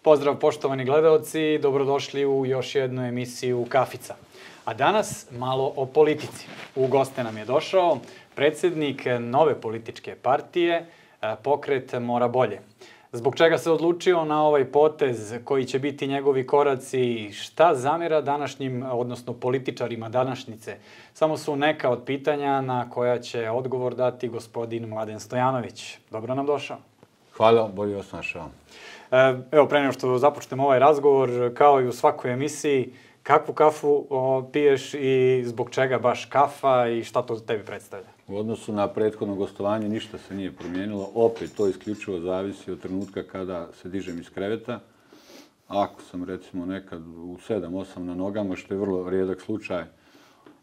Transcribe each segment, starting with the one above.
Pozdrav poštovani gledaoci, dobrodošli u još jednu emisiju Kafica. A danas malo o politici. U goste nam je došao predsjednik nove političke partije, Pokret Mora bolje. Zbog čega se odlučio na ovaj potez, koji će biti njegovi koraci, šta zamjera današnjim, odnosno političarima današnjice? Samo su neka od pitanja na koja će odgovor dati gospodin Mladen Stojanović. Dobro nam došao. Hvala, bolje vas našao. Evo, pre nego što započnemo ovaj razgovor, kao i u svakoj emisiji, kakvu kafu piješ i zbog čega baš kafa i šta to tebi predstavlja? U odnosu na prethodno gostovanje ništa se nije promijenilo. Opet to isključivo zavisi od trenutka kada se dižem iz kreveta. Ako sam recimo nekad u 7-8 na nogama, što je vrlo rijedak slučaj,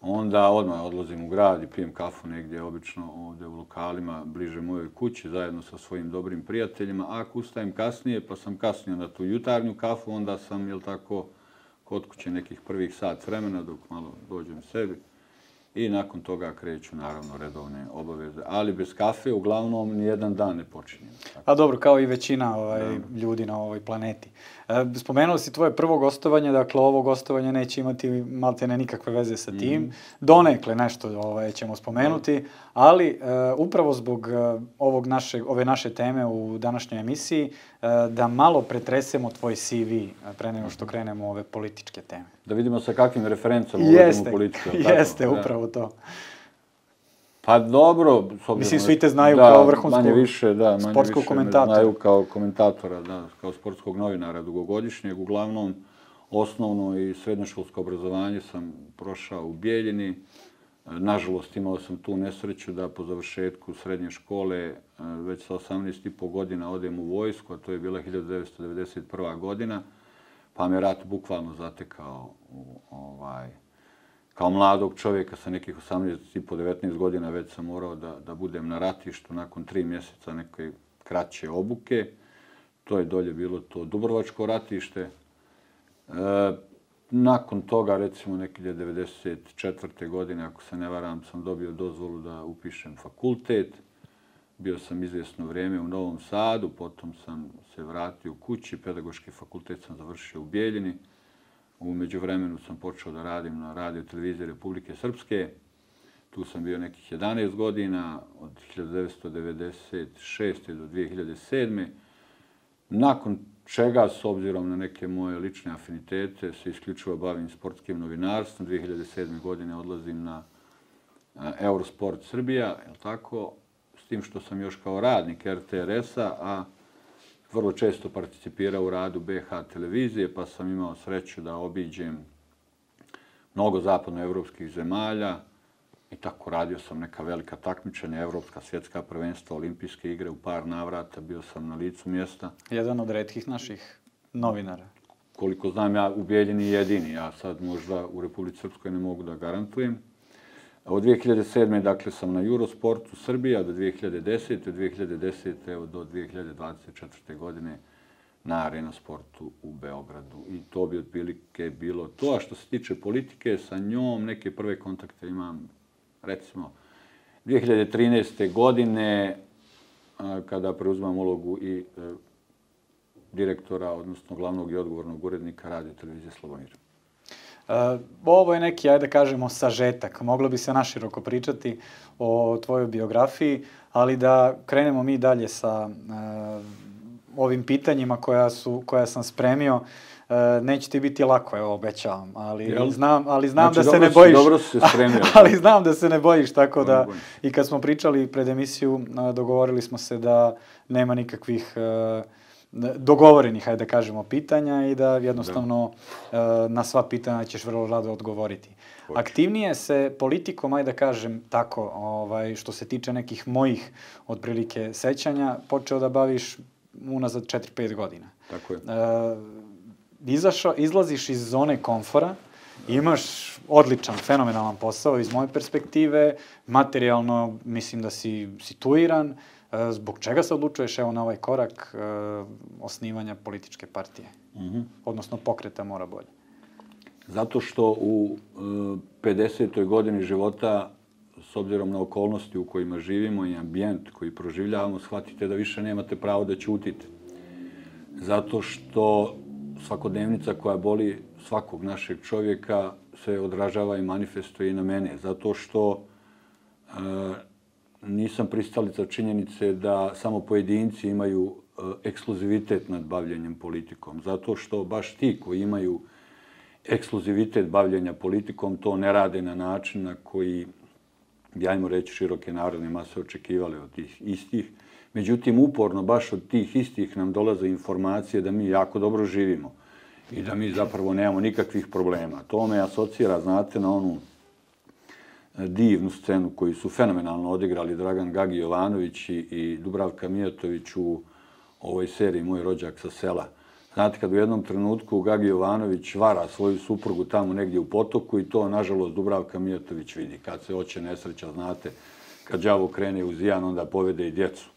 onda odmah odlazim u grad i pijem kafu negdje, obično ovdje u lokalima bliže mojoj kući, zajedno sa svojim dobrim prijateljima. Ako ustajem kasnije, pa sam kasnije na tu jutarnju kafu, onda sam, jel tako, kod kuće nekih prvih sat vremena dok malo dođem sebi. I nakon toga kreću, naravno, redovne obaveze. Ali bez kafe, uglavnom, nijedan dan ne počinjem. A dobro, kao i većina ljudi na ovoj planeti. Spomenuo si tvoje prvo gostovanje, dakle ovo gostovanje neće imati maltene nikakve veze sa tim. Donekle nešto ćemo spomenuti, ali upravo zbog ove naše teme u današnjoj emisiji, da malo pretresemo tvoj CV pre nego što krenemo u ove političke teme. Da vidimo sa kakvim referencama ulazimo u politiku. Jeste, upravo to. Pa dobro. Mislim, svi te znaju kao vrhunskog sportskog komentatora. Znaju kao komentatora, kao sportskog novinara dugogodišnjeg. Uglavnom, osnovno i srednjoškolsko obrazovanje sam prošao u Bijeljini. Nažalost, imao sam tu nesreću da po završetku srednje škole već sa 18,5 godina odem u vojsku, a to je bila 1991. godina, pa me rat bukvalno zatekao kao mladog čovjeka sa nekih 18,5-19 godina već sam morao da budem na ratištu nakon 3 mjeseca neke kraće obuke. To je dolje bilo to Dubrovačko ratište. Nakon toga, recimo, neke 1994. godine, ako se ne varam, sam dobio dozvolu da upišem fakultet. Bio sam izvjesno vrijeme u Novom Sadu, potom sam se vratio kući, pedagoški fakultet sam završio u Bijeljini. U međuvremenu sam počeo da radim na radio televiziji Republike Srpske. Tu sam bio nekih 11 godina, od 1996. do 2007. Nakon čega, s obzirom na neke moje lične afinitete, se isključivo bavim sportskim novinarstvom. 2007. godine odlazim na Eurosport Srbija, je li tako? S tim što sam još kao radnik RTRS-a, a vrlo često participirao u radu BH televizije, pa sam imao sreću da obiđem mnogo zapadnoevropskih zemalja i tako radio sam neka velika takmičenja, evropska, svjetska prvenstva, olimpijske igre u par navrata, bio sam na licu mjesta. Jedan od retkih naših novinara. Koliko znam, ja u Bijeljini jedini, ja sad možda u Republici Srpskoj ne mogu da garantujem. Od 2007. dakle sam na Eurosportu Srbija do 2010. Od 2010. do 2024. godine na Arena Sportu u Beogradu. I to bi otprilike bilo to. A što se tiče politike, sa njom neke prve kontakte imam, recimo, 2013. godine, kada preuzimam ulogu i direktora, odnosno glavnog i odgovornog urednika Radio televizije Slobomir. Ovo je neki, ajde kažemo, sažetak. Moglo bi se naširoko pričati o tvojoj biografiji, ali da krenemo mi dalje sa ovim pitanjima koja sam spremio. Neće ti biti lako, evo, obećavam, ali znam da se ne bojiš. Dobro si se spremio. Ali znam da se ne bojiš, tako da i kad smo pričali pred emisiju, dogovorili smo se da nema nikakvih dogovorenih, hajde da kažemo, pitanja i da jednostavno na sva pitanja ćeš vrlo rado odgovoriti. Aktivnije se politikom, ajde da kažem tako, što se tiče nekih mojih otprilike sećanja, počeo da baviš unazad 4-5 godina. Tako je. Izlaziš iz zone komfora, imaš odličan, fenomenalan posao iz moje perspektive, materijalno mislim da si situiran. Zbog čega se odlučuješ na ovaj korak osnivanja političke partije? Odnosno Pokreta Mora bolje. Zato što u 50. godini života, s obzirom na okolnosti u kojima živimo i ambijent koji proživljavamo, shvatite da više nemate pravo da ćutite. zato što svakodnevnica koja boli svakog našeg čovjeka se odražava i manifestuje i na mene. Zato što nisam pristalica činjenice da samo pojedinci imaju ekskluzivitet nad bavljenjem politikom. Zato što baš ti koji imaju ekskluzivitet bavljenja politikom to ne rade na način na koji, ajmo reći, široke narodne mase očekivale od tih istih. Međutim, uporno baš od tih istih nam dolaze informacije da mi jako dobro živimo i da mi zapravo nemamo nikakvih problema. To me asocira, znate, na onu divnu scenu koju su fenomenalno odigrali Dragan Gagi Jovanović i Dubravka Mijatović u ovoj seriji Moj rođak sa sela. Znate, kad u jednom trenutku Gagi Jovanović vara svoju suprugu tamo negdje u potoku i to, nažalost, Dubravka Mijatović vidi. Kad se hoće nesreća, znate, kad đavo krene u zijan, onda povede i djecu.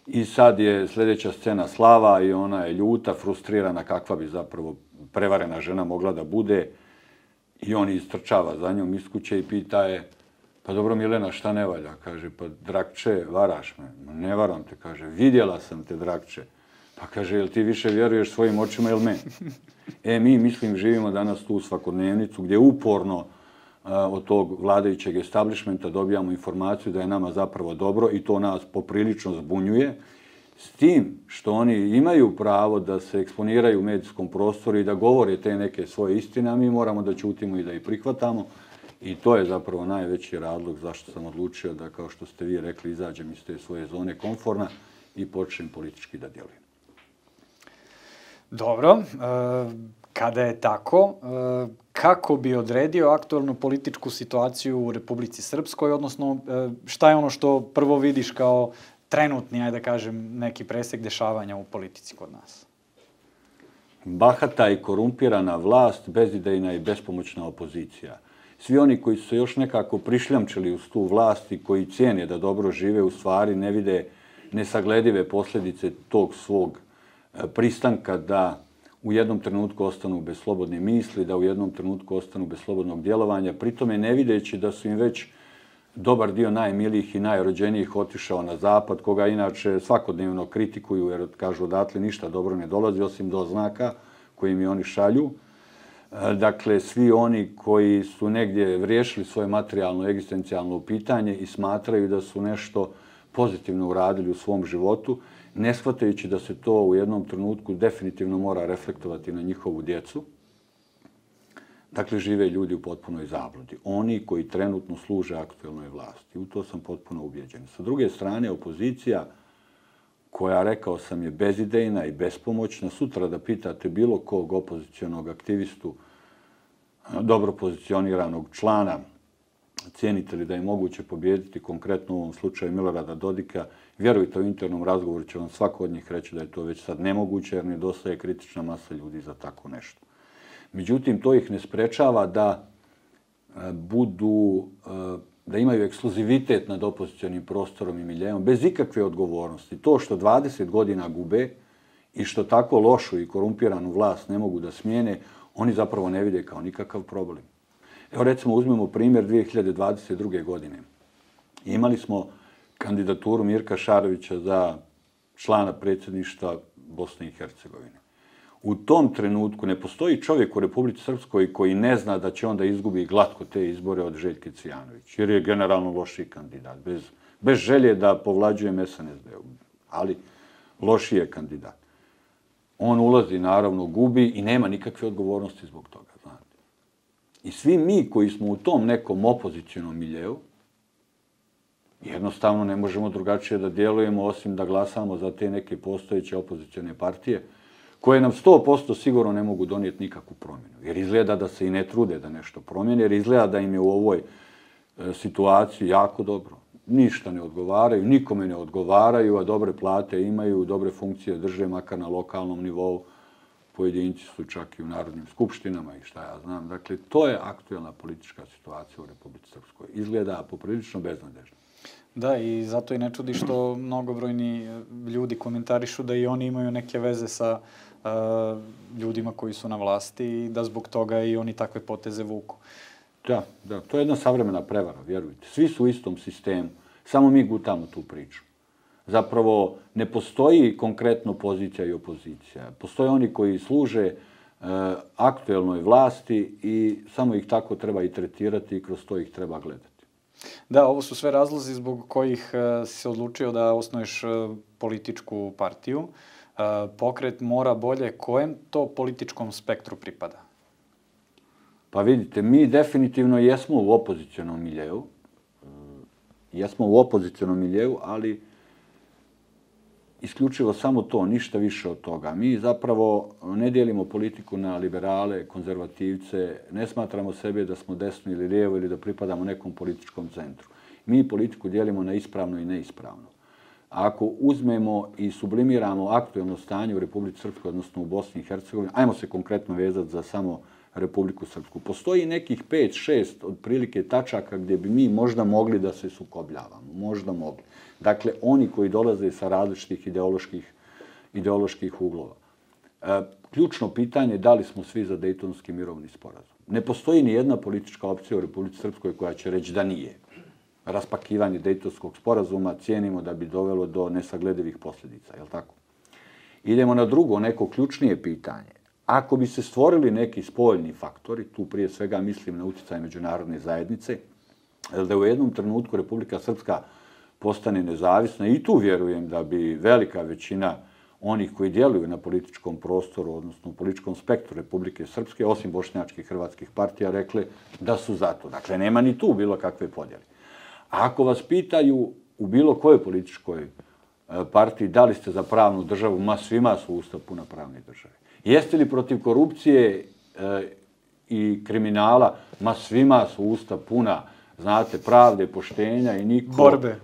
I sad je sljedeća scena Slava i ona je ljuta, frustrirana, kakva bi zapravo prevarena žena mogla da bude. I on istrčava za njom iz kuće i pita je, pa dobro Milena, šta ne valja? Kaže, pa Drakče, varaš me. Ne varam te, kaže, vidjela sam te Drakče. Pa kaže, jel ti više vjeruješ svojim očima ili meni? Mi, mislim, živimo danas tu svakodnevnicu gdje uporno od tog vladajućeg establishmenta dobijamo informaciju da je nama zapravo dobro i to nas poprilično zbunjuje. S tim što oni imaju pravo da se eksponiraju u medijskom prostoru i da govore te neke svoje istine, a mi moramo da ćutimo i da ih prihvatamo. I to je zapravo najveći razlog zašto sam odlučio da, kao što ste vi rekli, izađem iz te svoje zone komforna i počnem politički da djelujem. Dobro. Kada je tako, kako bi odredio aktualnu političku situaciju u Republici Srpskoj, odnosno šta je ono što prvo vidiš kao trenutni, ajde da kažem, neki presek dešavanja u politici kod nas? Bahata i korumpirana vlast, bezidejna i bespomoćna opozicija. Svi oni koji su se još nekako prišljamčili uz tu vlast i koji cijene da dobro žive, u stvari ne vide nesagledive posljedice tog svog pristanka da u jednom trenutku ostanu bez slobodne misli, da u jednom trenutku ostanu bez slobodnog djelovanja, pritome ne videći da su im već dobar dio najmilijih i najrođenijih otišao na zapad, koga inače svakodnevno kritikuju jer kažu odatle ništa dobro ne dolazi osim doznaka koji mi oni šalju. Dakle, svi oni koji su negdje riješili svoje materijalno egzistencijalno pitanje i smatraju da su nešto pozitivno uradili u svom životu, ne shvatajući da se to u jednom trenutku definitivno mora reflektovati na njihovu djecu. Dakle, žive ljudi u potpunoj zabludi. Oni koji trenutno služe aktuelnoj vlasti. U to sam potpuno ubjeđen. Sa druge strane, opozicija koja, rekao sam, je bezidejna i bespomoćna, sutra da pitate bilo kog opozicionog aktivistu, dobro pozicioniranog člana, cijenite li da je moguće pobijediti konkretno u ovom slučaju Milorada Dodika, vjerujte, u internom razgovoru će vam svako od njih reći da je to već sad nemoguće jer nedostaje kritična masa ljudi za tako nešto. Međutim, to ih ne sprečava da da imaju ekskluzivitet nad opozicionim prostorom i miljeom, bez ikakve odgovornosti. To što 20 godina gube i što tako lošu i korumpiranu vlast ne mogu da smijene, oni zapravo ne vide kao nikakav problem. Evo recimo uzmemo primjer 2022. godine. Imali smo kandidaturu Mirka Šarovića za člana predsjedništva Bosne i Hercegovine. U tom trenutku ne postoji čovjek u Republici Srpskoj koji ne zna da će onda izgubi glatko te izbore od Željke Cvijanović, jer je generalno lošiji kandidat, bez želje da povlađuje SNSD-u, ali lošiji je kandidat. On ulazi, naravno, gubi i nema nikakve odgovornosti zbog toga, znate. I svi mi koji smo u tom nekom opozicionom miljeu, jednostavno ne možemo drugačije da djelujemo osim da glasamo za te neke postojeće opozicione partije, koje nam 100% sigurno ne mogu donijeti nikakvu promjenu. Jer izgleda da se i ne trude da nešto promijene, jer izgleda da im je u ovoj situaciji jako dobro. Ništa ne odgovaraju, nikome ne odgovaraju, a dobre plate imaju, dobre funkcije drže, makar na lokalnom nivou. Pojedinci su čak i u narodnim skupštinama i šta ja znam. Dakle, to je aktuelna politička situacija u Republici Srpskoj. Izgleda poprilično beznadežno. Da, i zato i ne čudi što mnogobrojni ljudi komentarišu da i oni imaju neke veze sa ljudima koji su na vlasti i da zbog toga i oni takve poteze vuku. Da, to je jedna savremena prevara, vjerujte. Svi su u istom sistemu, samo mi gutamo tu priču. zapravo ne postoji konkretno pozicija i opozicija. Postoje oni koji služe aktuelnoj vlasti i samo ih tako treba i tretirati i kroz to ih treba gledati. Da, ovo su sve razlozi zbog kojih si se odlučio da osnuješ političku partiju. Pokret Mora bolje, kojem to političkom spektru pripada? Pa vidite, mi definitivno jesmo u opozicionom miljeu. Jesmo u opozicionom miljeu, ali isključivo samo to, ništa više od toga. Mi zapravo ne dijelimo politiku na liberale, konzervativce, ne smatramo sebe da smo desno ili lijevo ili da pripadamo nekom političkom centru. Mi politiku dijelimo na ispravno i neispravno. Ako uzmemo i sublimiramo aktuelno stanje u Republici Srpskoj, odnosno u Bosni i Hercegovini, ajmo se konkretno vezati za samo Republiku Srpsku. Postoji nekih 5-6 otprilike tačaka gdje bi mi možda mogli da se sukobljavamo. Možda mogli. Dakle, oni koji dolaze sa različitih ideoloških uglova. Ključno pitanje je da li smo svi za Dejtonski mirovni sporazum. Ne postoji ni jedna politička opcija u Republici Srpskoj koja će reći da nije. Raspakivanje Dejtonskog sporazuma cijenimo da bi dovelo do nesagledivih posljedica, je li tako? Idemo na drugo, neko ključnije pitanje. Ako bi se stvorili neki spoljni faktori, tu prije svega mislim na utjecaj međunarodne zajednice, da u jednom trenutku Republika Srpska postane nezavisna i tu vjerujem da bi velika većina onih koji djeluju na političkom prostoru, odnosno u političkom spektru Republike Srpske, osim bošnjačkih hrvatskih partija, rekle da su za to. Dakle, nema ni tu bilo kakve podjele. A ako vas pitaju u bilo kojoj političkoj partiji da li ste za pravnu državu, ma svima su usta puna pravne države. Jeste li protiv korupcije i kriminala, ma svima su usta puna, znate, pravde, poštenja i niko... Borbe.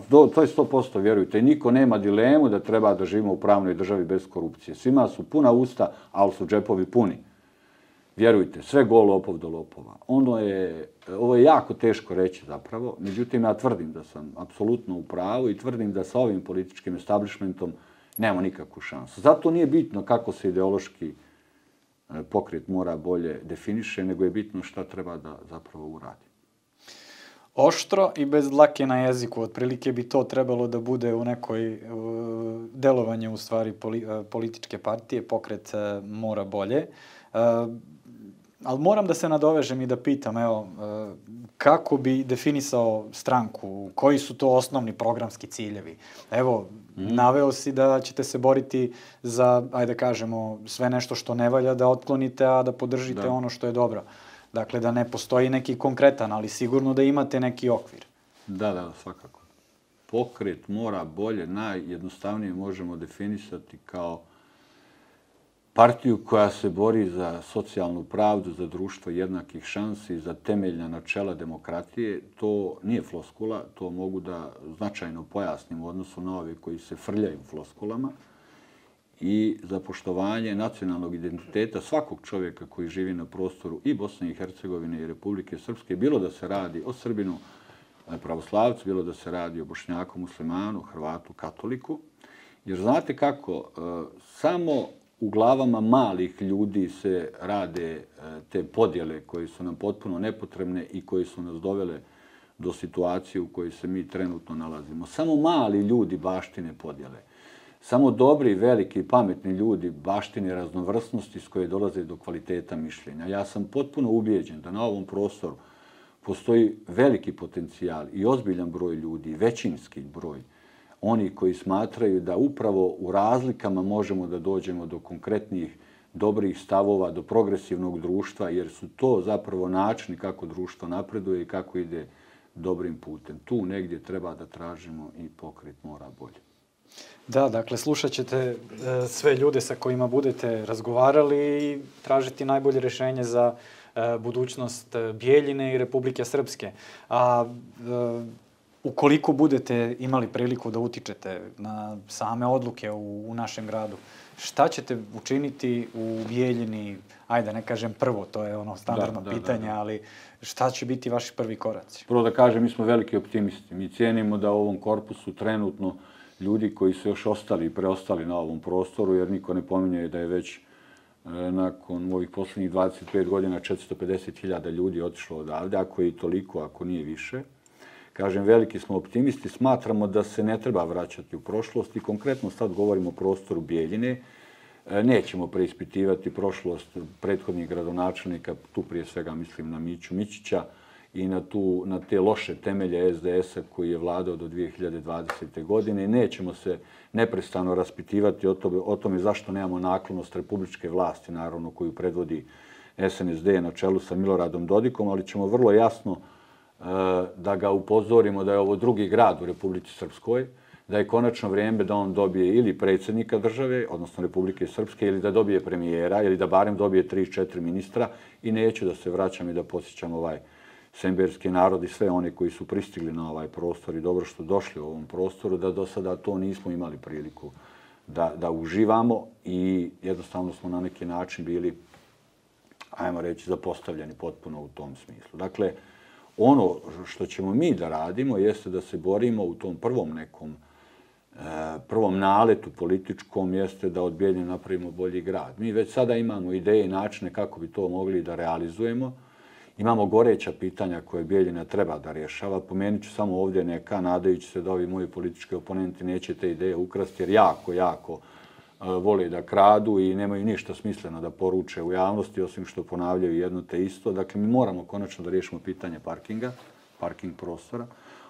To je 100%, vjerujte. Niko nema dilemu da treba da živimo u pravnoj državi bez korupcije. Svima su puna usta, ali su džepovi puni. Vjerujte, sve go lopov do lopova. Ovo je jako teško reći zapravo, međutim ja tvrdim da sam apsolutno u pravu i tvrdim da sa ovim političkim establishmentom nemamo nikakvu šansu. Zato nije bitno kako se ideološki pokret Mora bolje definiše, nego je bitno šta treba da zapravo uradi. Oštro i bez dlake na jeziku, otprilike bi to trebalo da bude u nekoj delovanju u stvari političke partije, pokret Mora bolje. Ali moram da se nadovežem i da pitam, evo, kako bi definisao stranku, koji su to osnovni programski ciljevi? Evo, naveo si da ćete se boriti za, ajde kažemo, sve nešto što ne valja da otklonite, a da podržite ono što je dobro. Dakle, da ne postoji neki konkretan, ali sigurno da imate neki okvir. Da, svakako. Pokret Mora bolje najjednostavnije možemo definisati kao partiju koja se bori za socijalnu pravdu, za društvo jednakih šansi, za temeljna načela demokratije. To nije floskula, to mogu da značajno pojasnim u odnosu na ove koji se frljaju floskulama, i za poštovanje nacionalnog identiteta svakog čovjeka koji živi na prostoru i Bosne i Hercegovine i Republike Srpske, bilo da se radi o Srbinu, pravoslavcu, bilo da se radi o Bošnjaku, muslimanu, Hrvatu, katoliku. Jer znate kako, samo u glavama malih ljudi se rade te podjele koje su nam potpuno nepotrebne i koje su nas dovele do situacije u kojoj se mi trenutno nalazimo. Samo mali ljudi baštine podjele. Samo dobri, veliki, pametni ljudi baštine raznovrsnosti s koje dolaze do kvaliteta mišljenja. Ja sam potpuno ubijeđen da na ovom prostoru postoji veliki potencijal i ozbiljan broj ljudi, većinski broj, oni koji smatraju da upravo u razlikama možemo da dođemo do konkretnih dobrih stavova, do progresivnog društva, jer su to zapravo načini kako društvo napreduje i kako ide dobrim putem. Tu negdje treba da tražimo i pokret Mora bolje. Da, dakle, slušat ćete sve ljude sa kojima budete razgovarali i tražiti najbolje rješenje za budućnost Bijeljine i Republike Srpske. A ukoliko budete imali priliku da utičete na same odluke u našem gradu, šta ćete učiniti u Bijeljini? Ajde, ne kažem prvo, to je ono standardno pitanje, ali šta će biti vaši prvi koraci? Prvo da kažem, mi smo veliki optimisti. Mi cijenimo da u ovom korpusu trenutno ljudi koji su još ostali i preostali na ovom prostoru, jer niko ne pominje da je već nakon ovih posljednjih 25 godina 450.000 ljudi otišlo odavde, ako je i toliko, ako nije više. Kažem, veliki smo optimisti, smatramo da se ne treba vraćati u prošlost i konkretno sad govorimo o prostoru Bijeljine. Nećemo preispitivati prošlost prethodnih gradonačelnika, tu prije svega mislim na Miću Mićića i na te loše temelje SDS-a koji je vladao do 2020. godine. Nećemo se neprestano raspitivati o tome zašto nemamo naklonost republičke vlasti, naravno koju predvodi SNSD na čelu sa Miloradom Dodikom, ali ćemo vrlo jasno da ga upozorimo da je ovo drugi grad u Republici Srpskoj, da je konačno vrijeme da on dobije ili predsjednika države, odnosno Republike Srpske, ili da dobije premijera, ili da barem dobije 3-4 ministra i neću da se vraćam i da posjećam ovaj semberski narod i sve one koji su pristigli na ovaj prostor i dobro što došli u ovom prostoru, da do sada to nismo imali priliku da uživamo i jednostavno smo na neki način bili, ajmo reći, zapostavljeni potpuno u tom smislu. Dakle, ono što ćemo mi da radimo jeste da se borimo u tom prvom naletu političkom jeste da od Bijeljine napravimo bolji grad. Mi već sada imamo ideje i načine kako bi to mogli da realizujemo. Imamo goreća pitanja koje Bijeljina treba da rješava. Pomenut ću samo ovdje neka, nadajući se da ovi moji politički oponenti neće te ideje ukrasti, jer jako vole da kradu i nemaju ništa smisleno da poruče u javnosti, osim što ponavljaju jedno te isto. Dakle, mi moramo konačno da riješimo pitanje parking prostora.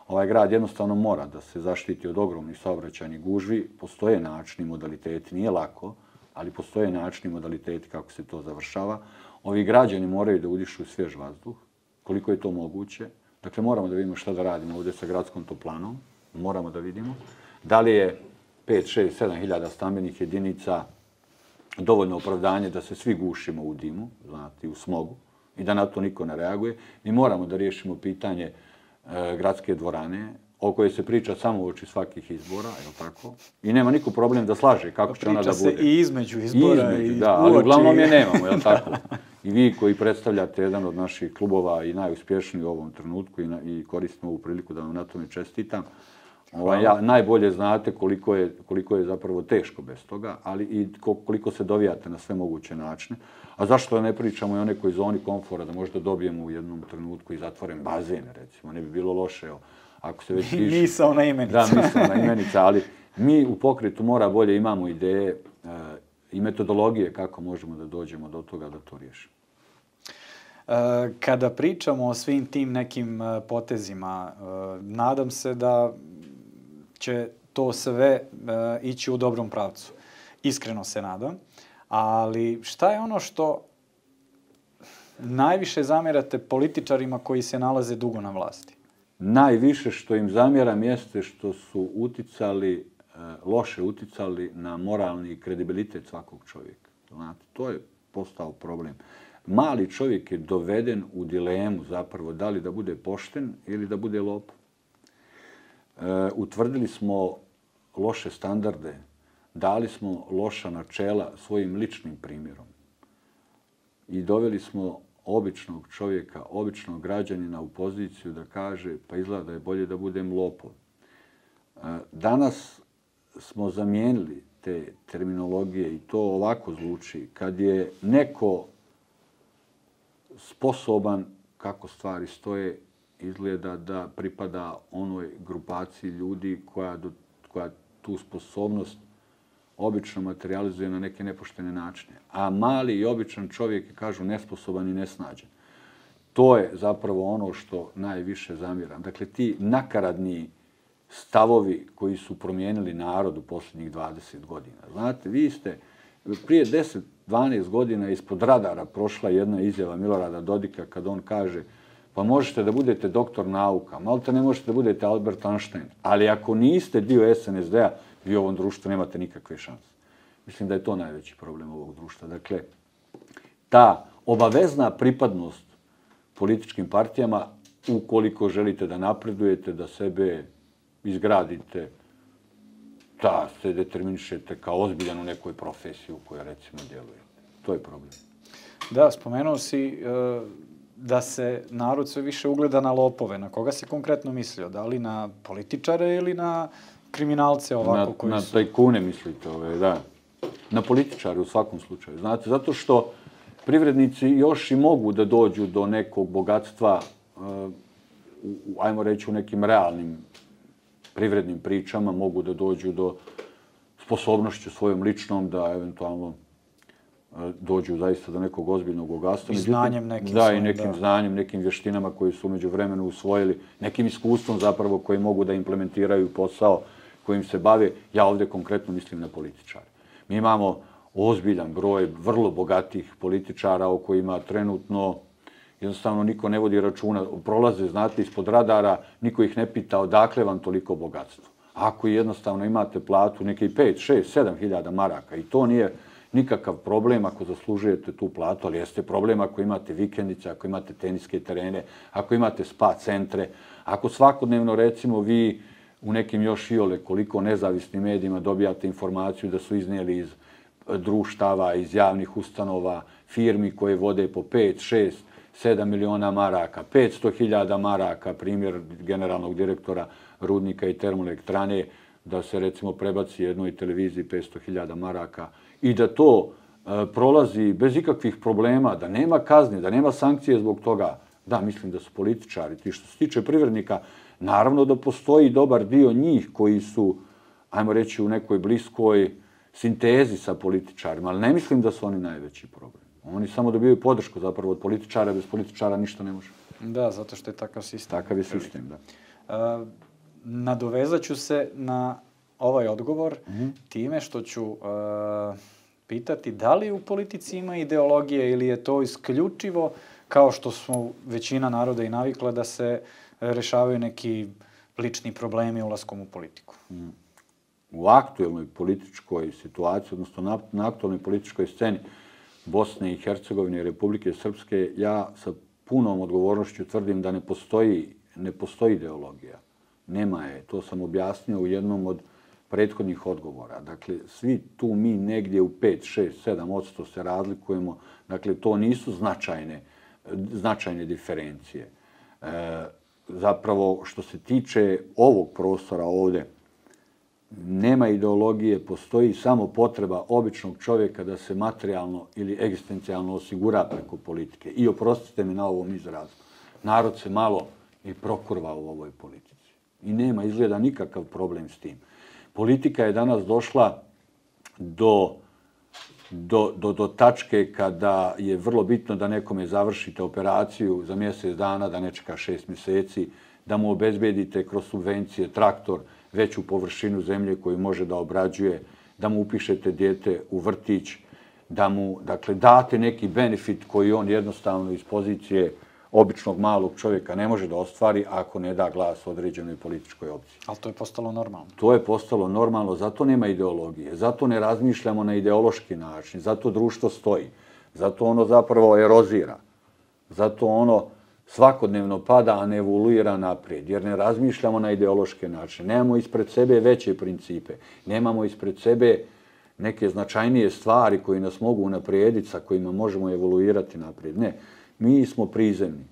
Ovaj grad jednostavno mora da se zaštiti od ogromnih saobraćajnih gužvi. Postoje načini, modaliteti, nije lako, ali postoje načini, modaliteti kako se to završava. Ovi građani moraju da udišu svjež vazduh, koliko je to moguće. Dakle, moramo da vidimo šta da radimo ovdje sa gradskom toplanom. Moramo da vidimo da li je 5, 6, 7 hiljada stambenih jedinica dovoljno opravdanje da se svi gušimo u dimu, znate, u smogu i da na to niko ne reaguje. Mi moramo da riješimo pitanje gradske dvorane, o kojoj se priča samo uoči svakih izbora, je li tako? I nema niko problem da slaže kako će ona da bude. Priča se i između izbora i da, ali uglavnom je nemamo, je li tako? I vi koji predstavljate jedan od naših klubova i najuspješniji u ovom trenutku i koristim ovu priliku da vam na tome čestitam, najbolje znate koliko je zapravo teško bez toga, ali i koliko se dovijate na sve moguće načine. A zašto ne pričamo i o nekoj zoni komfora, da možda dobijemo u jednom trenutku i zatvoren bazen, recimo. Ne bi bilo loše, ako se već piše. Misaona imenica. Da, misaona imenica, ali mi u Pokretu Mora bolje imamo ideje i metodologije kako možemo da dođemo do toga da to riješimo. Kada pričamo o svim tim nekim potezima, nadam se da će to sve ići u dobrom pravcu. Iskreno se nadam. Ali šta je ono što najviše zamjerate političarima koji se nalaze dugo na vlasti? Najviše što im zamjeram jeste što su loše uticali na moralni kredibilitet svakog čovjeka. Znate, to je postao problem. Mali čovjek je doveden u dilemu zapravo da li da bude pošten ili da bude lopov. Utvrdili smo loše standarde, dali smo loša načela svojim ličnim primjerom i doveli smo običnog čovjeka, običnog građanina u poziciju da kaže pa izgleda da je bolje da budem lopov. Danas smo zamijenili te terminologije i to ovako zvuči. Kad je neko sposoban, kako stvari stoje, izgleda da pripada onoj grupaciji ljudi koja tu sposobnost obično materializuje na neke nepoštene načine. A mali i običan čovjek je, kažu, nesposoban i nesnađen. To je zapravo ono što najviše zamjeram. Dakle, ti nakaradni stavovi koji su promijenili narod u posljednjih 20 godina. Znate, vi ste prije 10-12 godina ispod radara prošla jedna izjava Milorada Dodika kad on kaže pa možete da budete doktor nauka, malta ne možete da budete Albert Einstein, ali ako niste dio SNSD-a, vi u ovom društvu nemate nikakve šanse. Mislim da je to najveći problem ovog društva. Dakle, ta obavezna pripadnost političkim partijama, ukoliko želite da napredujete, da sebe izgradite, da se determinišete kao ozbiljan u nekoj profesiji u kojoj recimo djelujete. To je problem. Da, spomenuo si da se narod sve više ugleda na lopove. Na koga si konkretno mislio? Da li na političare ili na kriminalce ovako koji su? Na tajkune mislite, da. Na političare u svakom slučaju. Znate, zato što privrednici još i mogu da dođu do nekog bogatstva ajmo reći, u nekim realnim privrednim pričama mogu da dođu do sposobnošću svojom ličnom da eventualno dođu zaista do nekog ozbiljnog bogatstva. I znanjem nekim. Da, i nekim znanjem, nekim vještinama koji su umeđu vremenu usvojili, nekim iskustvom zapravo koji mogu da implementiraju posao kojim se bave. Ja ovdje konkretno mislim na političare. Mi imamo ozbiljan broj vrlo bogatih političara o kojima trenutno jednostavno niko ne vodi računa. Prolaze, znate, ispod radara, niko ih ne pita odakle vam toliko bogatstvo. Ako jednostavno imate platu nekih 5, 6, 7 hiljada maraka i to nije nikakav problem ako zaslužujete tu platu, ali jeste problem ako imate vikendice, ako imate teniske terene, ako imate spa centre, ako svakodnevno recimo vi u nekim još iole koliko nezavisnim medijima dobijate informaciju da su iznijeli iz društava, iz javnih ustanova, firmi koje vode po 5, 6, 7 miliona maraka, 500.000 maraka, primjer generalnog direktora rudnika i termoelektrane, da se recimo prebaci jednoj televiziji 500.000 maraka i da to prolazi bez ikakvih problema, da nema kazni, da nema sankcije zbog toga. Da, mislim da su političari ti. Što se tiče privrednika, naravno da postoji dobar dio njih koji su, ajmo reći, u nekoj bliskoj sintezi sa političarima, ali ne mislim da su oni najveći problem. Oni samo dobijaju podršku zapravo od političara, bez političara ništa ne može. Da, zato što je takav sistem. Takav je sistem, da. Nadovezat ću se na ovaj odgovor time što ću pitati da li u politici ima ideologije ili je to isključivo kao što smo većina naroda i navikla da se rešavaju neki lični problemi ulaskom u politiku. U aktuelnoj političkoj situaciji, odnosno na aktuelnoj političkoj sceni Bosne i Hercegovine i Republike Srpske, ja sa punom odgovornošću tvrdim da ne postoji ideologija. Nema je. To sam objasnio u jednom od prethodnih odgovora. Dakle, svi tu mi negdje u 5, 6, 7% se razlikujemo. Dakle, to nisu značajne diferencije. Zapravo, što se tiče ovog prostora ovdje, nema ideologije, postoji samo potreba običnog čovjeka da se materijalno ili egzistencijalno osigura preko politike. I oprostite mi na ovom izrazu. Narod se malo i prokurva u ovoj politici. I nema izgleda nikakav problem s tim. Politika je danas došla do tačke kada je vrlo bitno da nekome završite operaciju za mjesec dana, da ne čeka 6 mjeseci, da mu obezbedite kroz subvencije traktor, veću površinu zemlje koju može da obrađuje, da mu upišete dijete u vrtić, da mu date neki benefit koji on jednostavno iz pozicije običnog malog čovjeka ne može da ostvari ako ne da glas određenoj političkoj opciji. Ali to je postalo normalno. To je postalo normalno, zato nema ideologije, zato ne razmišljamo na ideološki način, zato društvo stoji, zato ono zapravo erozira, zato ono svakodnevno pada, a ne evoluira naprijed, jer ne razmišljamo na ideološke načine. Nemamo ispred sebe veće principe, nemamo ispred sebe neke značajnije stvari koji nas mogu unaprijediti, sa kojima možemo evoluirati naprijed. Ne, mi smo prizemni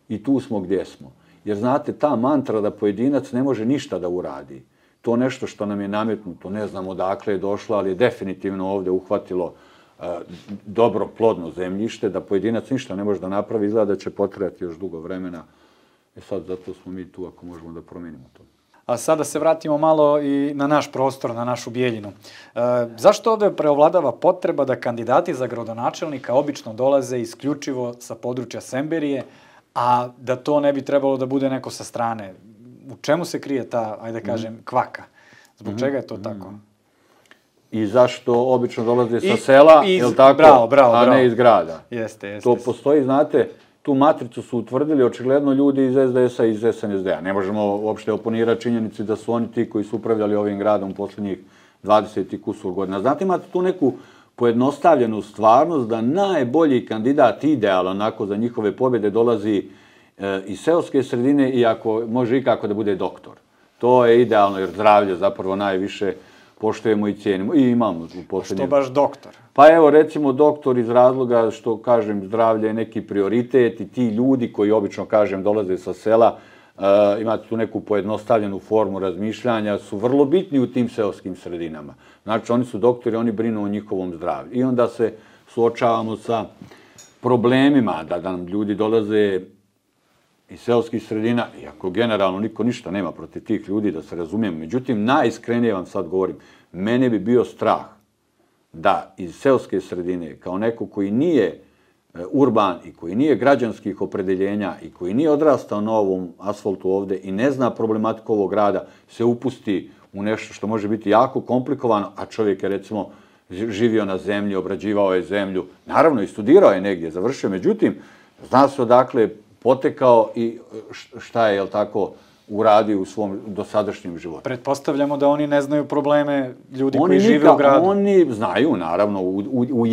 i tu smo gdje smo. Jer znate, ta mantra da pojedinac ne može ništa da uradi, to nešto što nam je nametnuto, ne znam odakle je došlo, ali je definitivno ovdje uhvatilo dobro plodno zemljište, da pojedinac ništa ne može da napravi, izgleda da će potrajati još dugo vremena. Sad, zato smo mi tu ako možemo da promijenimo to. A sada se vratimo malo i na naš prostor, na našu Bijeljinu. Zašto ovdje preovladava potreba da kandidati za gradonačelnika obično dolaze isključivo sa područja Semberije, a da to ne bi trebalo da bude neko sa strane? U čemu se krije ta, ajde kažem, kvaka? Zbog čega je to tako? I zašto obično dolaze sa sela, je li tako, a ne iz grada? Jeste. To postoji, znate, tu matricu su utvrdili očigledno ljudi iz SDS-a i iz SNSD-a. Ne možemo uopšte oponirati činjenici da su oni ti koji su upravljali ovim gradom posljednjih 20 i kusur godina. Znate, imate tu neku pojednostavljenu stvarnost da najbolji kandidat idealan onako za njihove pobjede dolazi iz seoske sredine i ako može ikako da bude doktor. To je idealno jer zdravlje zapravo najviše poštujemo i cijenimo. I imamo u posljednje... Što baš doktor? Pa evo recimo doktor iz razloga što, kažem, zdravlje je neki prioritet i ti ljudi koji obično, kažem, dolaze sa sela, imate tu neku pojednostavljenu formu razmišljanja, su vrlo bitni u tim seoskim sredinama. Znači oni su doktori, oni brinu o njihovom zdravlju. I onda se suočavamo sa problemima da nam ljudi dolaze iz seoskih sredina, iako generalno niko ništa nema protiv tih ljudi, da se razumijemo. Međutim, najiskrenije vam sad govorim, mene bi bio strah da iz seoske sredine, kao neko koji nije urban i koji nije građanskih opredeljenja i koji nije odrastao na ovom asfaltu ovde i ne zna problematiku ovog grada, se upusti u nešto što može biti jako komplikovano, a čovjek je recimo živio na zemlji, obrađivao je zemlju, naravno i studirao je negdje, završio, međutim, zna se odakle potekao i šta je, jel tako, uradio u svom dosadašnjem životu. Pretpostavljamo da oni ne znaju probleme ljudi koji žive u gradu. Oni znaju, naravno, u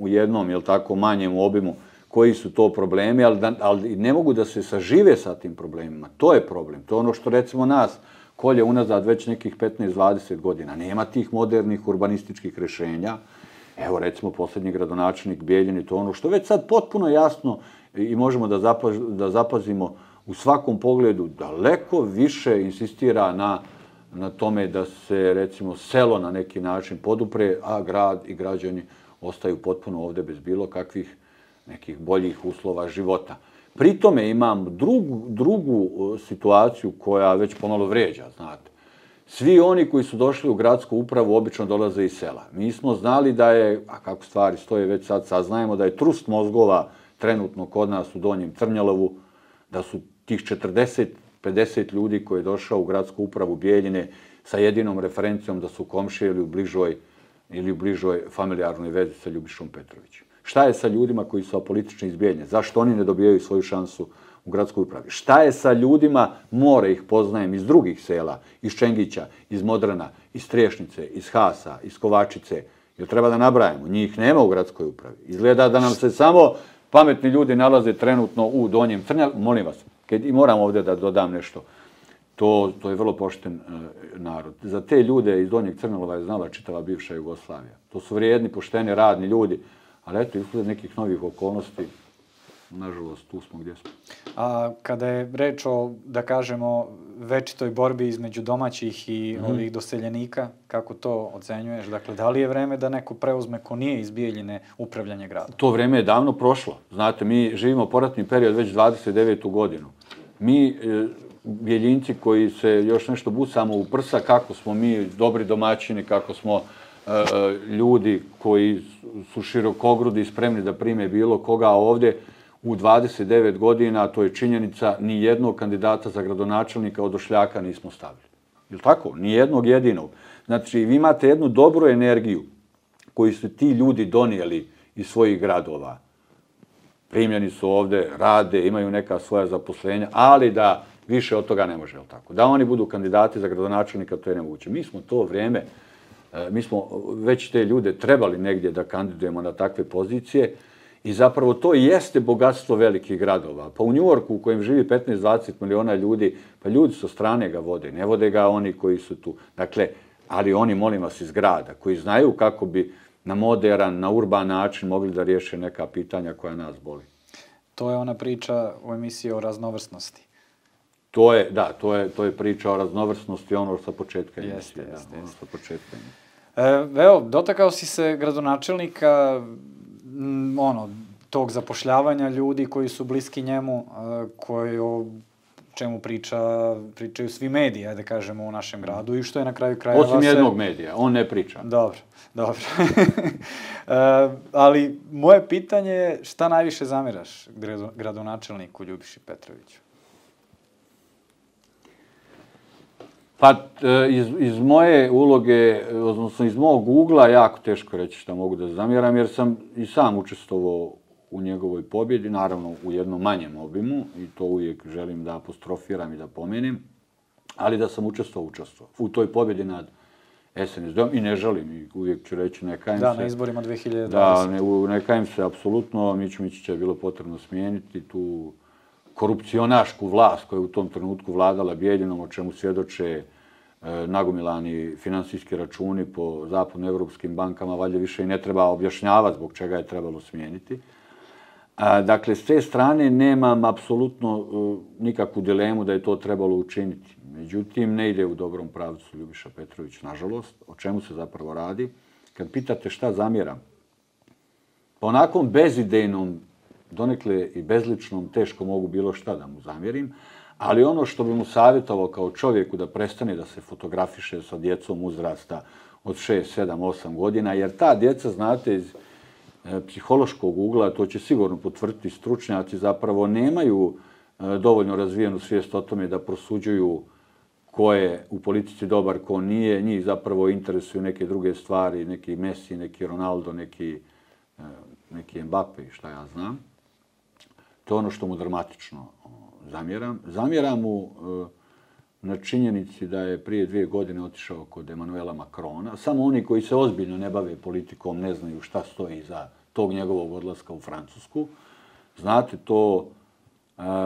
jednom, jel tako, manjem obimu koji su to problemi, ali ne mogu da se sažive sa tim problemima. To je problem. To je ono što, recimo, nas kolje unazad već nekih 15-20 godina. Nema tih modernih urbanističkih rješenja. Evo, recimo, posljednji gradonačelnik Bijeljine, to je ono što već sad potpuno jasno i možemo da zapazimo u svakom pogledu, daleko više insistira na tome da se, recimo, selo na neki način podupre, a grad i građani ostaju potpuno ovde bez bilo kakvih nekih boljih uslova života. Pri tome imam drugu situaciju koja već pomalo vređa, znate. Svi oni koji su došli u gradsku upravu obično dolaze iz sela. Mi smo znali da je, a kako stvari stoje već sad saznajemo, da je trust mozgova trenutno kod nas u Donjem Crnjalovu, da su tih 40-50 ljudi koji je došao u gradsku upravu Bijeljine sa jedinom referencijom da su komšije ili u bližoj familijarnoj vezi sa Ljubišom Petrovićem. Šta je sa ljudima koji su apolitični iz Bijeljine? Zašto oni ne dobijaju svoju šansu u gradskoj upravi? Šta je sa ljudima, more ih poznajem, iz drugih sela, iz Čengića, iz Modrana, iz Triješnice, iz Hasa, iz Kovačice? Jer treba da nabrajamo, njih nema u gradskoj upravi. Izgleda da nam se samo pametni ljudi nalaze trenutno u Donjem Crnjalovu. Molim vas, i moram ovdje da dodam nešto. To je vrlo pošten narod. Za te ljude iz Donjeg Crnjalova je znala čitava bivša Jugoslavija. To su vrijedni, pošteni, radni ljudi, ali eto, izgled nekih novih okolnosti, nažalost, tu smo gdje smo. A kada je reč o, da kažemo, večitoj borbi između domaćih i ovih doseljenika, kako to ocenjuješ? Dakle, da li je vreme da neko preuzme ko nije iz Bijeljine upravljanje gradom? To vreme je davno prošlo. Znate, mi živimo poratni period već 29. godinu. Mi, Bijeljinci koji se još nešto busamo u prsa, kako smo mi dobri domaćini, kako smo ljudi koji su širokogrudi i spremni da prime bilo koga ovdje, u 29 godina, to je činjenica, ni jednog kandidata za gradonačelnika od Ošljaka nismo stavili. Je li tako? Ni jednog jedinog. Znači, vi imate jednu dobru energiju koju su ti ljudi donijeli iz svojih gradova. Primljeni su ovde, rade, imaju neka svoja zaposlenja, ali da više od toga ne može, je li tako? Da oni budu kandidati za gradonačelnika, to je nemoguće. Mi smo to vrijeme, mi smo već te ljude trebali negdje da kandidujemo na takve pozicije. I zapravo to jeste bogatstvo velikih gradova. Pa u Njujorku u kojem živi 15-20 miliona ljudi, pa ljudi sa strane ga vode, ne vode ga oni koji su tu. Dakle, ali oni, molim vas, iz grada, koji znaju kako bi na moderan, na urban način mogli da riješe neka pitanja koja nas boli. To je ona priča u emisiji o raznovrsnosti. To je priča o raznovrsnosti, ono sa početka emisije. Evo, dotakao si se gradonačelnika, tog zapošljavanja ljudi koji su bliski njemu, koji o čemu pričaju svi mediji, da kažemo, u našem gradu i što je na kraju krajeva... Osim jednog medija, on ne priča. Dobro. Ali moje pitanje je šta najviše zamiraš gradonačelniku Ljubiši Petroviću? Pa iz moje uloge, odnosno iz mog ugla, jako teško reći šta mogu da zamjeram, jer sam i sam učestvovao u njegovoj pobjedi, naravno u jednom manjem obimu, i to uvijek želim da apostrofiram i da pomenem, ali da sam učestvovao u toj pobjedi nad SNSD-om i ne želim, i uvijek ću reći, ne kajem se. Da, na izborima 2020. Da, ne kajem se apsolutno, Miću Mićića je bilo potrebno smijeniti tu korupcionašku vlast koja je u tom trenutku vladala Bijeljinom, o čemu svjedoče nagomilani finansijski računi po zapadnoevropskim bankama, valjda više i ne treba objašnjavati zbog čega je trebalo smijeniti. Dakle, s te strane nemam apsolutno nikakvu dilemu da je to trebalo učiniti. Međutim, ne ide u dobrom pravcu Ljubiša Petrović, nažalost. O čemu se zapravo radi? Kad pitate šta zamjeram, po onakvom bezidejnom donekle i bezličnom, teško mogu bilo šta da mu zamjerim, ali ono što bi mu savjetovao kao čovjeku da prestane da se fotografiše sa djecom uzrasta od 6, 7, 8 godina, jer ta djeca, znate, iz psihološkog ugla, to će sigurno potvrditi stručnjaci, zapravo nemaju dovoljno razvijenu svijest o tome da prosuđuju ko je u politici dobar, ko nije. Njih zapravo interesuju neke druge stvari, neki Messi, neki Ronaldo, neki Mbappe i šta ja znam. To je ono što mu dramatično zamjeram. Zamjeram mu na činjenici da je prije 2 godine otišao kod Emanuela Macrona. Samo oni koji se ozbiljno ne bave politikom ne znaju šta stoji iza tog njegovog odlaska u Francusku. Znate, to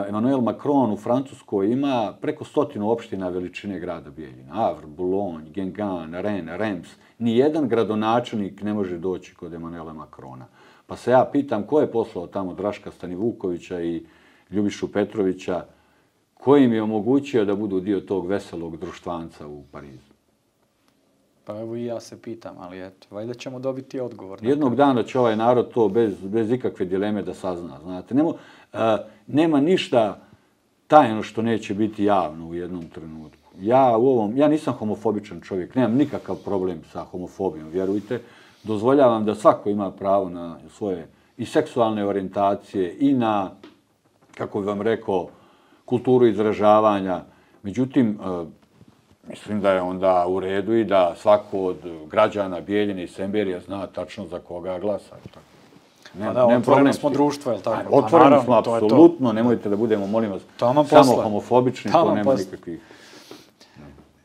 Emmanuel Macron u Francuskoj ima preko 100 opština veličine grada Bijeljina. Havre, Boulogne, Guingamp, Rennes, Reims. Nijedan gradonačelnik ne može doći kod Emmanuela Macrona. Pa se ja pitam ko je poslao tamo Draška Stanivukovića i Ljubišu Petrovića, ko im je omogućio da budu dio tog veselog društvanca u Parizu? Pa evo i ja se pitam, ali eto, valjda ćemo dobiti odgovor. Jednog dana će ovaj narod to bez ikakve dileme da sazna, znate. Nema ništa tajno što neće biti javno u jednom trenutku. Ja nisam homofobičan čovjek, nemam nikakav problem sa homofobijom, vjerujte. Dozvoljavam da svako ima pravo na svoje i seksualne orijentacije i na, kako bih vam rekao, kulturu izražavanja. Međutim, mislim da je onda u redu i da svako od građana Bijeljine i Semberija zna tačno za koga glasa. Pa da, otvoreno smo društvo, je li tako? Otvoreno smo, apsolutno. Nemojte da budemo, molim vas, samo homofobični, to nema nikakvih.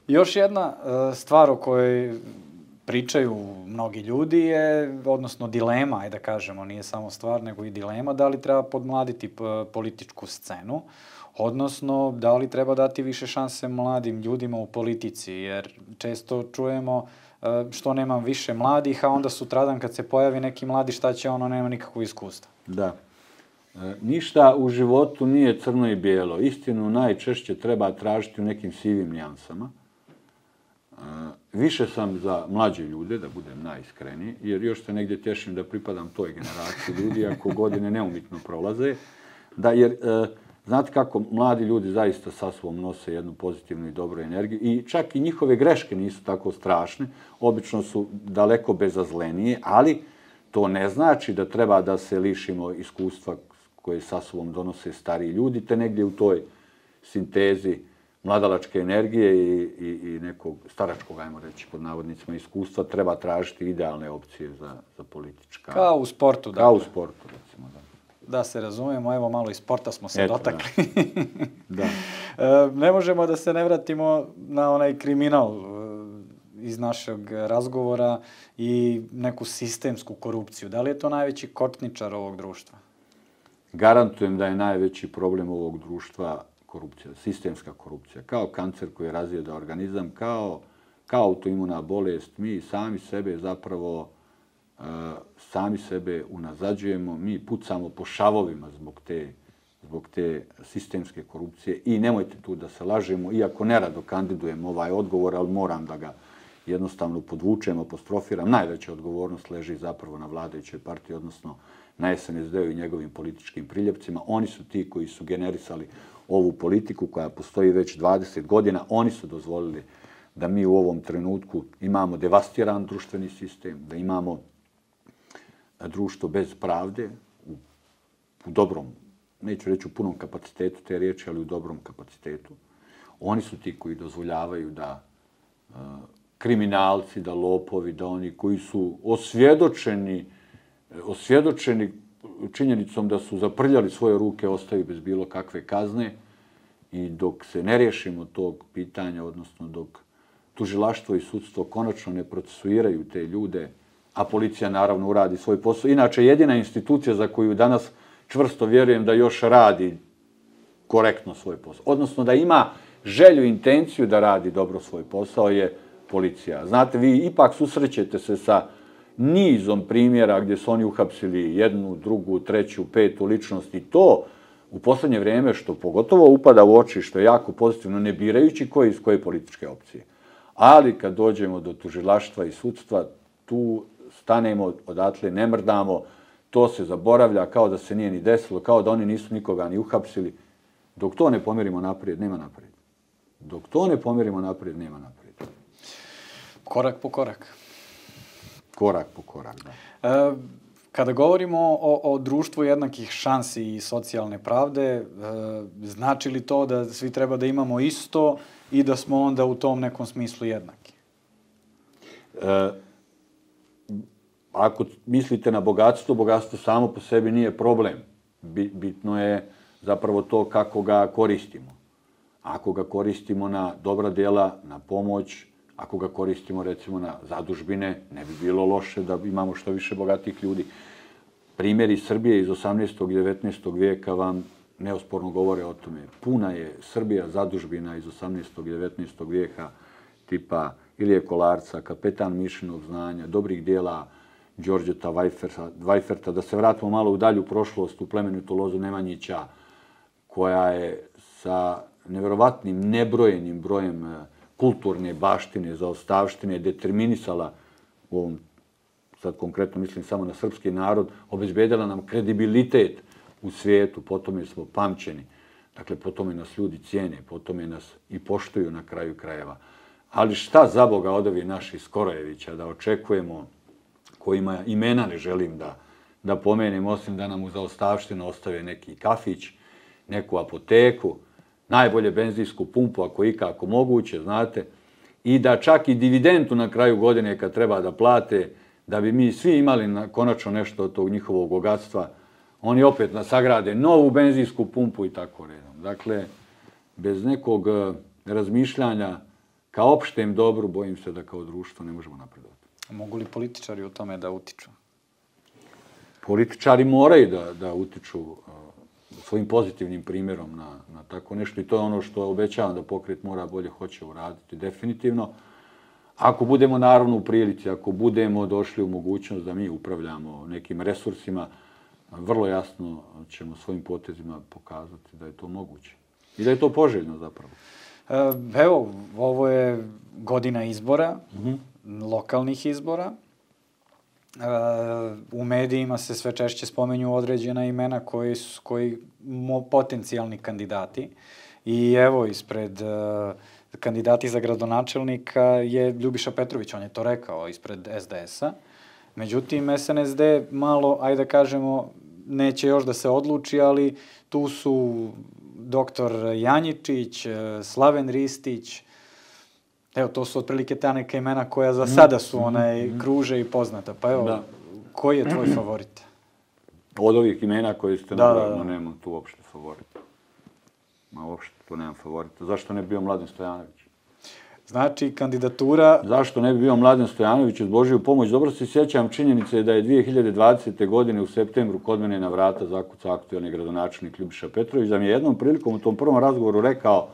Još jedna stvar o kojoj pričaju mnogi ljudi je, odnosno dilema, ajde da kažemo, nije samo stvar, nego i dilema, da li treba podmladiti političku scenu, odnosno da li treba dati više šanse mladim ljudima u politici, jer često čujemo što nemam više mladih, a onda sutradan kad se pojavi neki mladi, šta će ono, nema nikakvog iskustva. Da. Ništa u životu nije crno i bijelo. Istinu najčešće treba tražiti u nekim sivim nijansama. Više sam za mlađe ljude, da budem najiskreniji, jer još se negdje tješim da pripadam toj generaciji ljudi, ako godine neumitno prolaze. Jer znate kako mladi ljudi zaista sa sobom nose jednu pozitivnu i dobru energiju i čak i njihove greške nisu tako strašne, obično su daleko bezazlenije, ali to ne znači da treba da se lišimo iskustva koje sa sobom donose stariji ljudi, te negdje u toj sintezi mladalačke energije i nekog staračkog, ajmo reći, pod navodnicima, iskustva, treba tražiti idealne opcije za politička. Kao u sportu, da. Kao u sportu, recimo, da. Da se razumijemo, evo malo iz sporta smo se dotakli. Da. Ne možemo da se ne vratimo na onaj kriminal iz našeg razgovora i neku sistemsku korupciju. Da li je to najveći kočničar ovog društva? Garantujem da je najveći problem ovog društva korupcija, sistemska korupcija. Kao kancer koji razjeda organizam, kao autoimuna bolest, mi sami sebe zapravo sami sebe unazađujemo, mi pucamo po šavovima zbog te sistemske korupcije i nemojte tu da se lažemo, iako nerado kandidujem ovaj odgovor, ali moram da ga jednostavno podvučem, apostrofiram. Najveća odgovornost leži zapravo na vladajućoj partiji, odnosno na SNSD-u i njegovim političkim priljepcima. Oni su ti koji su generisali ovu politiku koja postoji već 20 godina. Oni su dozvolili da mi u ovom trenutku imamo devastiran društveni sistem, da imamo društvo bez pravde, u dobrom, neću reći u punom kapacitetu te riječi, ali u dobrom kapacitetu. Oni su ti koji dozvoljavaju da kriminalci, da lopovi, da oni koji su osvjedočeni činjenicom da su zaprljali svoje ruke, ostaju bez bilo kakve kazne i dok se ne riješimo tog pitanja, odnosno dok tužilaštvo i sudstvo konačno ne procesuiraju te ljude, a policija naravno uradi svoj posao. Inače, jedina institucija za koju danas čvrsto vjerujem da još radi korektno svoj posao, odnosno da ima želju i intenciju da radi dobro svoj posao, je policija. Znate, vi ipak susrećete se sa nizom primjera gdje su oni uhapsili jednu, drugu, treću, petu ličnost i to u posljednje vrijeme što pogotovo upada u oči, što je jako pozitivno, ne birajući iz koje političke opcije. Ali kad dođemo do tužilaštva i sudstva, tu stanemo, odatle ne mrdamo, To se zaboravlja kao da se nije ni desilo, kao da oni nisu nikoga ni uhapsili. Dok to ne pomerimo naprijed, nema naprijed. Dok to ne pomerimo naprijed, nema naprijed. Korak po korak. Korak po korak, da. Kada govorimo o društvu jednakih šansi i socijalne pravde, znači li to da svi treba da imamo isto i da smo onda u tom nekom smislu jednaki? Ako mislite na bogatstvo, bogatstvo samo po sebi nije problem. Bitno je zapravo to kako ga koristimo. Ako ga koristimo na dobra djela, na pomoć, ako ga koristimo recimo na zadužbine, ne bi bilo loše da imamo što više bogatih ljudi. Primjeri Srbije iz 18. i 19. vijeka vam neosporno govore o tome. Puna je Srbija zadužbina iz 18. i 19. vijeka tipa Ilije Kolarca, kapetan Mišinog znanja, dobrih djela Đorđeta Vajferta. Da se vratimo malo u dalju prošlost, u plemenitu lozu Nemanjića, koja je sa nevjerovatnim, nebrojenim brojem kulturne baštine, zaostavštine, determinisala, u ovom, sad konkretno mislim samo na srpski narod, obezbedila nam kredibilitet u svijetu, po tome smo pamćeni. Dakle, po tome nas ljudi cijene, po tome nas i poštuju na kraju krajeva. Ali šta za Boga od ovih naših Skorojevića da očekujemo, kojima imena ne želim da pomenem, osim da nam u zaostavštinu ostave neki kafić, neku apoteku, najbolje benzinsku pumpu ako ikako moguće, znate, i da čak i dividendu na kraju godine kad treba da plate, da bi mi svi imali konačno nešto od tog njihovog bogatstva, oni opet sagrade novu benzinsku pumpu i tako redom. Dakle, bez nekog razmišljanja ka opštem dobru, bojim se da kao društvo ne možemo napredovati. Mogu li političari u tome da utiču? Političari moraju da utiču svojim pozitivnim primjerom na tako nešto i to je ono što obećavam da pokret Mora bolje hoće uraditi definitivno. Ako budemo naravno u prilici, ako budemo došli u mogućnost da mi upravljamo nekim resursima, vrlo jasno ćemo svojim potezima pokazati da je to moguće i da je to poželjno zapravo. Evo, ovo je godina izbora, lokalnih izbora. U medijima se sve češće spomenju određena imena koji potencijalni kandidati. I evo, ispred kandidati za gradonačelnika je Ljubiša Petrović, on je to rekao, ispred SDS-a. Međutim, SNSD malo, ajde da kažemo, neće još da se odluči, ali tu su doktor Janjičić, Slaven Ristić. Evo, to su otprilike ta neka imena koja za sada su kruže i poznata. Pa evo, koji je tvoj favorit? Od ovih imena koje ste nabrali, nemam tu uopšte favorita. Uopšte tu nemam favorita. Zašto ne bi bio Mladen Stojanović? Znači, kandidatura... Zašto ne bi bio Mladen Stojanović uz Božiju pomoć? Dobro se sjećam činjenice da je 2020. godine u septembru kod mene na vrata zakucao aktualni gradonačelnik Ljubiša Petrović, da mi je jednom prilikom u tom prvom razgovoru rekao,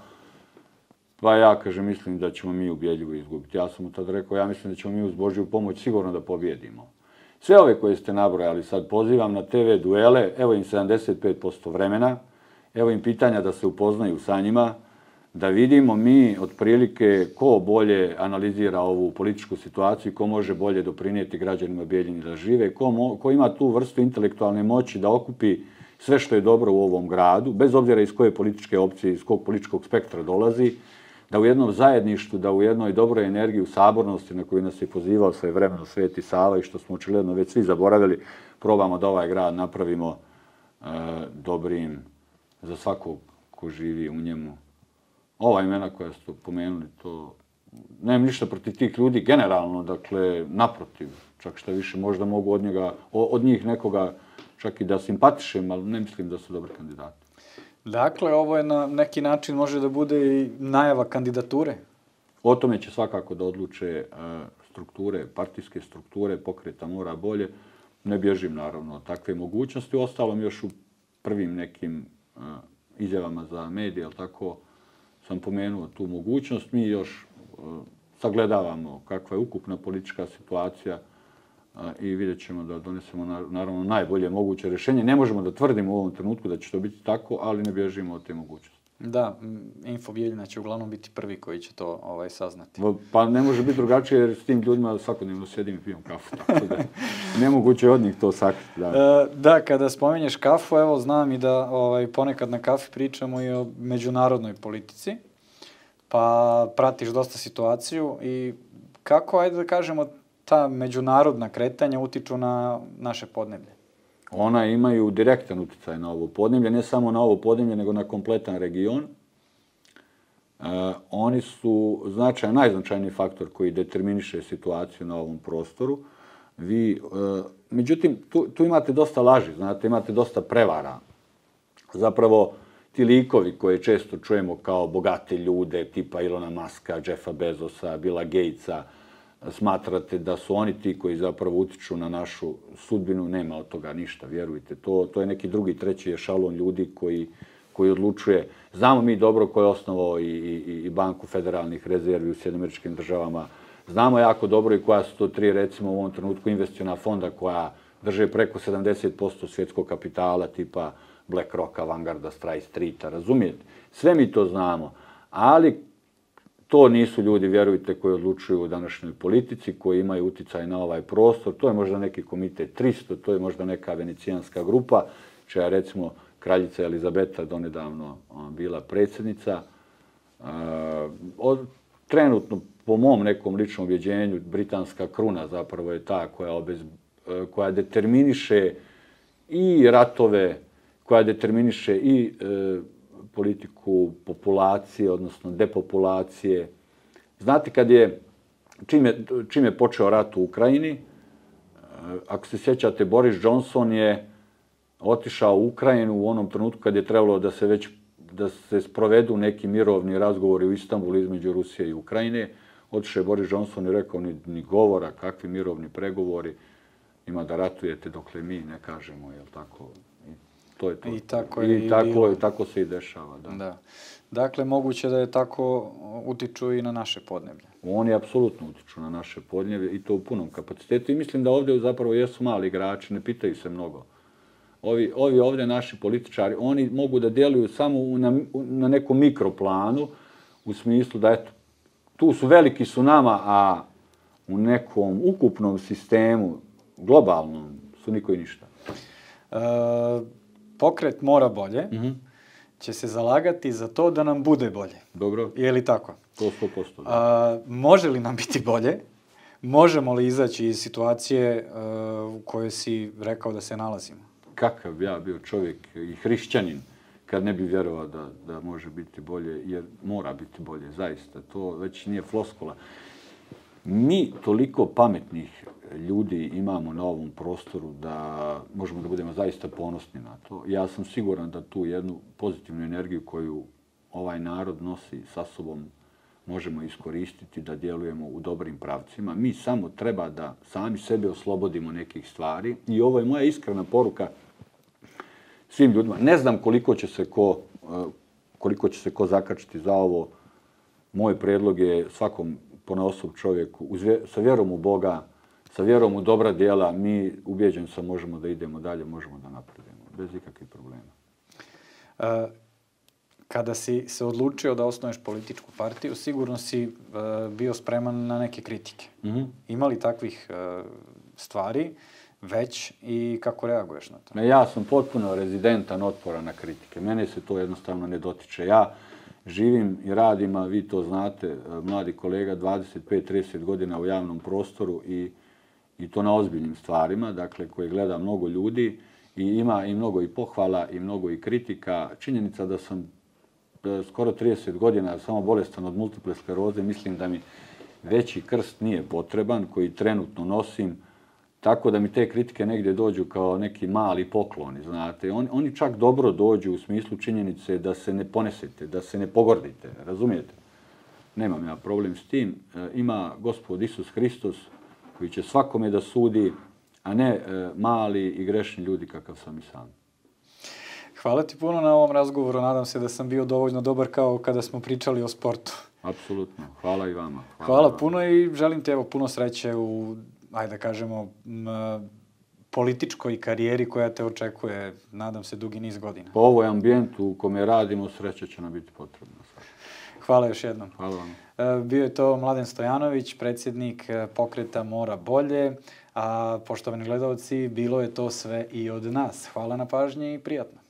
pa ja, kaže, mislim da ćemo mi ubjedljivo izgubiti. Ja sam mu tad rekao, ja mislim da ćemo mi uz Božju pomoć sigurno da pobjedimo. Sve ove koje ste nabrojali sad pozivam na TV duele, evo im 75% vremena, evo im pitanja da se upoznaju sa njima, da vidimo mi otprilike ko bolje analizira ovu političku situaciju, ko može bolje doprinijeti građanima Bijeljine da žive, ko ima tu vrstu intelektualne moći da okupi sve što je dobro u ovom gradu, bez obzira iz koje političke opcije, iz kog političkog spektra dolazi, da u jednom zajedništvu, da u jednoj dobroj energiji u sabornosti na koju nas je pozivao svojevremeno Sveti Sava i što smo očigledno već svi zaboravili, probamo da ovaj grad napravimo dobrim za svakog ko živi u njemu. Ova imena koja ste pomenuli, to nemam ništa protiv tih ljudi generalno, dakle, naprotiv, čak šta više možda mogu od njih nekoga čak i da simpatišem, ali ne mislim da su dobri kandidati. Dakle, ovo je na neki način može da bude i najava kandidature? O tome će svakako da odluče strukture, partijske strukture, pokreta Mora bolje. Ne bježim naravno od takve mogućnosti. Uostalom još u prvim nekim izjavama za medije, ali tako sam pomenuo tu mogućnost. Mi još sagledavamo kakva je ukupna politička situacija i vidjet ćemo da donesemo naravno najbolje moguće rješenje. Ne možemo da tvrdimo u ovom trenutku da će to biti tako, ali ne bježimo od te mogućnosti. Da, Info Bijeljina će uglavnom biti prvi koji će to saznati. Pa ne može biti drugačije jer s tim ljudima svakodnevno sjedim i pijem kafu, tako da nemoguće od njih to sakriti. Da, kada spominješ kafu, evo znam i da ponekad na kafi pričamo i o međunarodnoj politici, pa pratiš dosta situaciju i kako, ajde da kažemo, ta međunarodna kretanja utiču na naše podneblje? Ona imaju direktan utjecaj na ovo podneblje, ne samo na ovo podneblje, nego na kompletan region. Oni su najznačajniji faktor koji determiniše situaciju na ovom prostoru. Međutim, tu imate dosta laži, znate, imate dosta prevara. Zapravo, ti likovi koje često čujemo kao bogate ljude, tipa Ilona Muska, Jeffa Bezosa, Billa Gatesa, smatrate da su oni ti koji zapravo utiču na našu sudbinu, nema od toga ništa, vjerujte. To je neki drugi, treći ešalon ljudi koji odlučuje. Znamo mi dobro ko je osnovao i Banku federalnih rezervi u Sjedinjenim Američkim Državama. Znamo jako dobro i koja su to tri, recimo u ovom trenutku, investiciona fonda koja drže preko 70% svjetskog kapitala, tipa BlackRocka, Vanguarda, State Streeta, razumijete? Sve mi to znamo, ali to nisu ljudi, vjerujte, koji odlučuju u današnjoj politici, koji imaju utjecaj na ovaj prostor. To je možda neki komitet 300, to je možda neka venecijanska grupa, čija je, recimo, kraljica Elizabeta donedavno bila predsjednica. Trenutno, po mom nekom ličnom ubjeđenju, britanska kruna zapravo je ta koja determiniše i ratove, koja determiniše i politiku populacije, odnosno depopulacije. Znate, čim je počeo rat u Ukrajini, ako se sjećate, Boris Johnson je otišao u Ukrajinu u onom trenutku kad je trebalo da se sprovedu neki mirovni razgovori u Istanbulu između Rusije i Ukrajine. Otišao je Boris Johnson i rekao ni govora, kakvi mirovni pregovori, ima da ratujete dokle mi ne kažemo, jel tako? To je to. I tako se i dešava. Da. Dakle, moguće da je tako utiču i na naše podneblje. Oni apsolutno utiču na naše podneblje i to u punom kapacitetu. I mislim da ovdje zapravo jesu mali igrači, ne pitaju se mnogo. Ovi ovdje naši političari, oni mogu da djeluju samo na nekom mikroplanu, u smislu da eto, tu su veliki su nama, a u nekom ukupnom sistemu, globalnom, su niko i ništa. Pokret Mora bolje će se zalagati za to da nam bude bolje. Dobro. Je li tako? To 100%. Može li nam biti bolje? Možemo li izaći iz situacije u kojoj si rekao da se nalazimo? Kakav bi ja bio čovjek i hrišćanin kad ne bi vjerovao da može biti bolje, jer mora biti bolje, zaista. To već nije floskula. Mi toliko pametnih ljudi imamo na ovom prostoru da možemo da budemo zaista ponosni na to. Ja sam siguran da tu jednu pozitivnu energiju koju ovaj narod nosi sa sobom možemo iskoristiti da djelujemo u dobrim pravcima. Mi samo treba da sami sebe oslobodimo nekih stvari i ovo je moja iskrena poruka svim ljudima. Ne znam koliko će se ko zakačiti za ovo. Moj predlog je svakom ponaosob čovjeku, sa vjerom u Boga, sa vjerom u dobra djela, mi, ubijeđen sam, možemo da idemo dalje, možemo da napredujemo, bez ikakvih problema. Kada si se odlučio da osnuješ političku partiju, sigurno si bio spreman na neke kritike. Ima li takvih stvari već i kako reaguješ na to? Ja sam potpuno rezidentan otpora na kritike. Mene se to jednostavno ne dotiče. Ja živim i radim, a vi to znate, mladi kolega, 25-30 godina u javnom prostoru i to na ozbiljnim stvarima, dakle, koje gleda mnogo ljudi i ima i mnogo i pohvala i mnogo i kritika. Činjenica da sam skoro 30 godina samo bolestan od multiple skleroze, mislim da mi veći krst nije potreban, koji trenutno nosim, tako da mi te kritike negdje dođu kao neki mali pokloni, znate. Oni čak dobro dođu u smislu činjenice da se ne ponesete, da se ne pogordite, razumijete? Nemam ja problem s tim. Ima Gospod Isus Hristos koji će svakome da sudi, a ne mali i grešni ljudi kakav sam i sam. Hvala ti puno na ovom razgovoru. Nadam se da sam bio dovoljno dobar kao kada smo pričali o sportu. Apsolutno. Hvala i vama. Hvala puno i želim ti puno sreće u, ajde da kažemo, političkoj karijeri koja te očekuje, nadam se, dugi niz godina. Po ovoj ambijentu u kome radimo, sreća će nam biti potrebna. Hvala još jednom. Hvala vam. Bio je to Mladen Stojanović, predsjednik pokreta Mora bolje, a poštovani gledalci, bilo je to sve i od nas. Hvala na pažnji i prijatno.